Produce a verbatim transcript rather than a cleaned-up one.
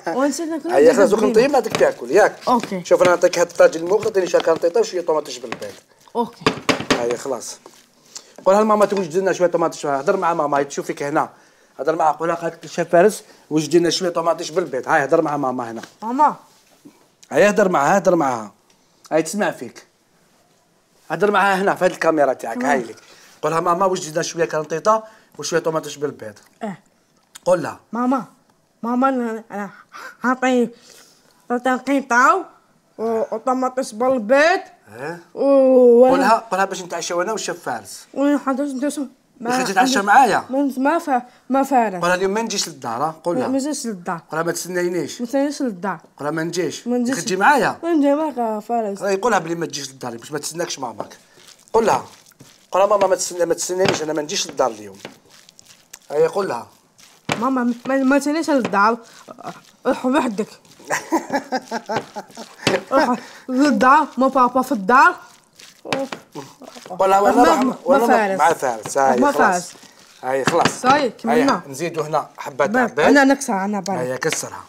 ونسيت ناكل. هيا خلاص دوك نطيب بعدك تاكل ياك. اوكي. شوف انا نعطيك هاد الطاجين الموقد، عطيني شويه كارطيطه وشويه طوماطيش بالبيض. اوكي. هيا خلاص. قولها لماما توجد لنا شويه طوماطيش، هضر مع ماما تشوفك هنا. هضر معها قولها قالت الشيف فارس وجد لنا شويه طوماطيش بالبيض. هاي هضر مع ماما هنا. ماما. هيا هضر معها هضر معها. هاي تسمع فيك. هضر معها هنا في هاد الكاميرا تاعك هاي لك. قولها ماما وجد لنا شويه كارطيطه وشويه طوماطيش بالبيض. اه. قول لها. ماما ماما انا حاطي قطعه وطماطيش بالبيض. اه. و قولها قولها باش نتعشاو انا والشيف فارس. وحاجه ندوسو. ما تتعشى معايا؟ ما فا ما فارس. قولها اليوم ما نجيش للدار. قولها ما نجيش للدار. قولها ما تستناينيش. ما تجيش للدار. قولها ما نجيش. ما نجيش. تجي معايا؟ ما نجي معاك فارس. قولها بلي ما تجيش للدار باش ما تستناكش ماماك. قولها قولها ماما ما تستنى ما تستنانيش انا ما نجيش للدار اليوم. هيا قولها ماما ما, ما تجيش للدار. روح وحدك. روح للدار ما بابا في الدار. قولها وانا ما وانا فارس. مع فارس. هاي ما خلاص. فارس. هاي خلاص. هاي كملنا. نزيدوا هنا حبات انا عباد. نكسر انا بالي. هيا كسرها.